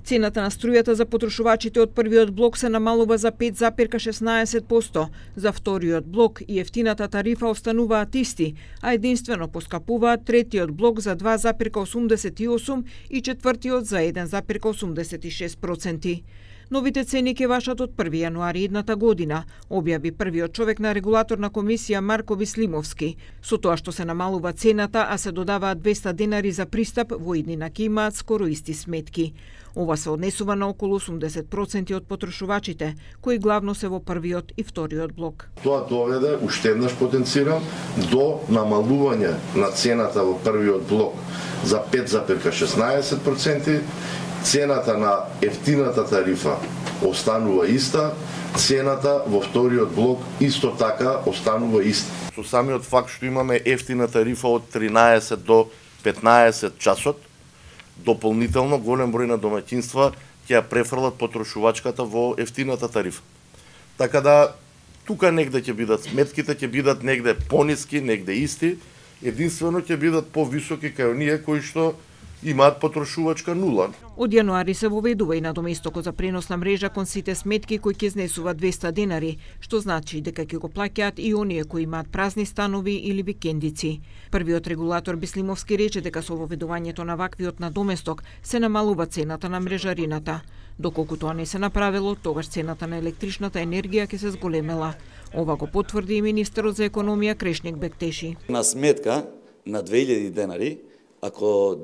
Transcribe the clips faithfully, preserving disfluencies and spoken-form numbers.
Цената на струјата за потрошувачите од првиот блок се намалува за пет запирка шеснаесет проценти, за вториот блок и ефтината тарифа остануваат исти, а единствено поскапуваат третиот блок за два запирка осумдесет и осум и четвртиот за еден запирка осумдесет и шест проценти. Новите цени ќе важат од први јануари идната година, објави првиот човек на регулаторна комисија Марко Вислимовски. Со тоа што се намалува цената, а се додаваат двеста денари за пристап, во иднина ќе имаат скоро исти сметки. Ова се однесува на околу осумдесет проценти од потрошувачите, кои главно се во првиот и вториот блок. Тоа доведе, уште еднаш потенцирам, до намалување на цената во првиот блок за пет запирка шеснаесет проценти, цената на ефтината тарифа останува иста, цената во вториот блок исто така останува иста. Со самиот факт што имаме ефтина тарифа од тринаесет до петнаесет часот, дополнително голем број на домаќинства ќе ја префрлат потрошувачката во ефтината тарифа. Така да, тука негде ќе бидат сметките, ќе бидат негде пониски, негде исти, единствено ќе бидат повисоки кај оние кои што имаат потрошувачка нула. Од јануари се воведува и на доместокот за преносна мрежа кон сите сметки кои ќе изнесуваат двеста денари, што значи дека ќе го плаќаат и оние кои имаат празни станови или викендици. Првиот регулатор Бислимовски рече дека со воведувањето на ваквиот на доместок се намалува цената на мрежарината. Доколку тоа не се направило, тогаш цената на електричната енергија ќе се зголемела. Ова го потврди и министерот за економија Крешник Бектеши. На сметка на две илјади денари, ако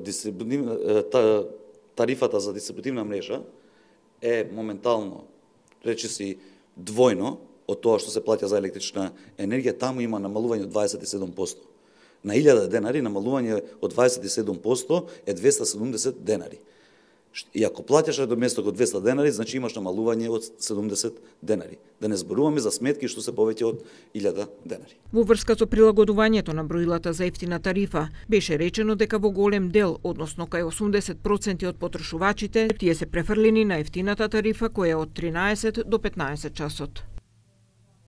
тарифата за дистрибутивна мрежа е моментално, речиси, двојно од тоа што се плаќа за електрична енергија, таму има намалување од дваесет и седум проценти. На илјада денари намалување од дваесет и седум проценти е двеста седумдесет денари. И ако плаќаш доместок од двеста денари, значи имаш намалување од седумдесет денари. Да не зборуваме за сметки што се повеќе од илјада денари. Во врска со прилагодувањето на броилата за ефтина тарифа, беше речено дека во голем дел, односно кај осумдесет проценти од потрошувачите, тие се префрлени на ефтината тарифа која е од тринаесет до петнаесет часот.